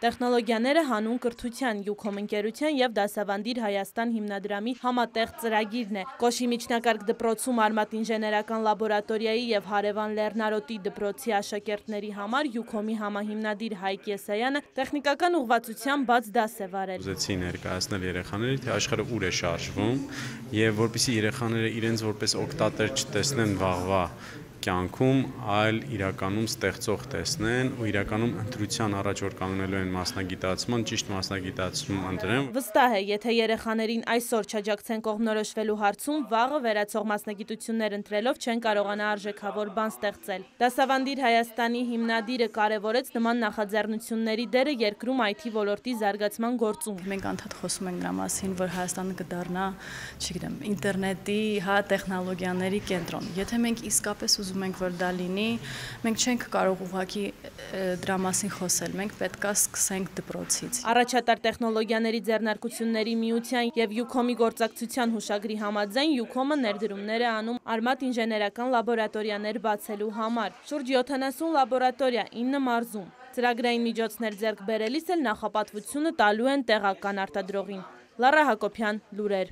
Տեխնոլոգիաները հանուն կրթության, յուքոմ ընկերության և դասավանդիր Հայաստան հիմնադրամի համատեղ ծրագիրն է։ Կոշի միջնակարգ դպրոցում Արմատ ինժեներական լաբորատորիայի և Հարևան Լեռնարոտի դպրոցի աշակերտների համար յուքոմի համահիմնադիր Հայկ Եսայանը տեխնիկական ուղղվածությամբ բաց դաս է վարել։ Ուզեցի ներկայացնել երեխաներին, թե աշխարհը ուր է շարժվում և որպեսզի երեխաները իրենց որպես օգտատեր չտեսնեն վաղվա կյանքում, այլ իրականում ստեղծող տեսնեն ու իրականում ընտրության առաջ որ կանգնելու են մասնագիտացման, ճիշտ մասնագիտացում ընտրեն։ Վստահ է, եթե երեխաներին այսօր չաջակցեն կողմնորոշվելու հարցում, վաղը վերացող մասնագիտություններ ընտրելով չեն կարողանա արժեքավոր բան ստեղծել։ Դասավանդիր Հայաստանի հիմնադիրը կարևորեց նման նախաձեռնությունների դերը երկրում IT ոլորտի զարգացման գործում։ Մենք անդադ խոսում ենք նրա մասին, որ Հայաստանը կդառնա, չգիտեմ, ինտերնետի, տեխնոլոգիաների կենտրոն։ Եթե մենք իսկապես ուզում ենք, որ դա լինի, մենք չենք կարող ուղղակի դրա մասին խոսել, մենք պետք է սկսենք դպրոցից։ Առաջատար տեխնոլոգիաների ձեռնարկությունների միության և յուքոմի գործակցության հուշագրի համաձայն յուքոմը ներդրումներ է անում Արմատ ինժեներական լաբորատորիաներ բացելու համար։ Շուրջ 70 լաբորատորիա 9 մարզում։ Ծրագրային միջոցներ ձեռք բերելիս էլ նախապատվությունը տալու են տեղական արտադրողին։ Լարա Հակոբյան, լուրեր։